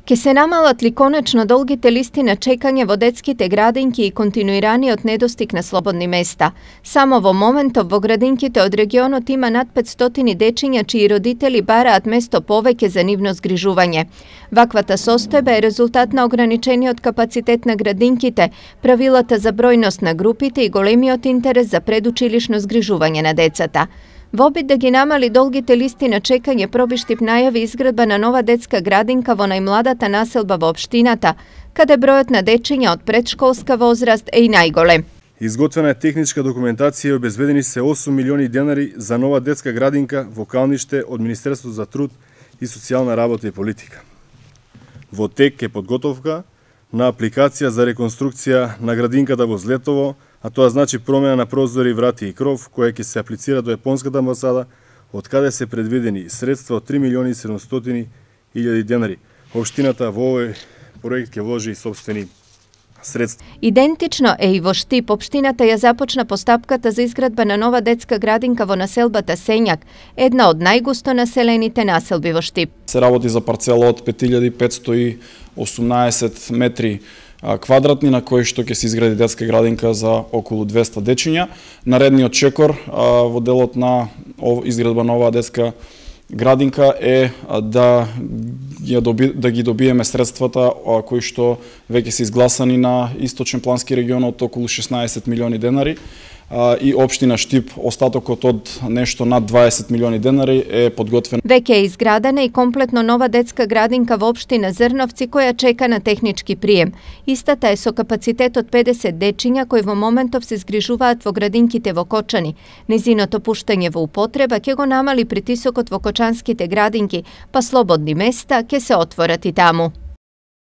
Ке се намалат ли конечно долгите листи на чекање во детските градинки и континуираниот недостиг на слободни места? Само во моментов во градинките од регионот има над 500 дечиња чии родители бараат место повеќе за нивно згрижување. Ваквата состојба е резултат на ограничениот капацитет на градинките, правилата за бројност на групите и големиот интерес за предучилишно згрижување на децата. Во обид да ги намали долгите листи на чекање, Пробиштип најави изградба на нова детска градинка во најмладата населба во општината, каде бројот на дечиња од предшколска возраст е и најголем. Изготвена е техничка документација и обезбедени се 8 милиони денари за нова детска градинка во Калниште од Министерството за труд и социјална работа и политика. Во тек е подготовка на апликација за реконструкција на градинката во Злетово, а тоа значи промена на прозори, врати и кров, која ќе се аплицира до Јапонската амбасада, од каде се предвидени средства од 3 милиони 700 илјади денари. Општината во овој проект ќе вложи сопствени средства. Идентично е и во Штип. Општината ја започна постапката за изградба на нова детска градинка во населбата Сењак, една од најгусто населените населби во Штип. Се работи за парцела од 5518 метри квадратни, на кои што ќе се изгради детска градинка за околу 200 дечиња. Наредниот чекор во делот на изградба на оваа детска градинка е да ги добиеме средствата кои што веќе се изгласани на Источен плански регион од околу 16 милиони денари и општина Штип остатокот од нешто над 20 милиони денари е подготвен. Веќе е изградена и комплетно нова детска градинка во општина Зрновци која чека на технички прием. Истата е со капацитет од 50 дечиња кои во моментов се згрижуваат во градинките во Кочани. Незиното пуштање во употреба ќе го намали притисокот во кочанските градинки, па слободни места ќе се отворат и таму.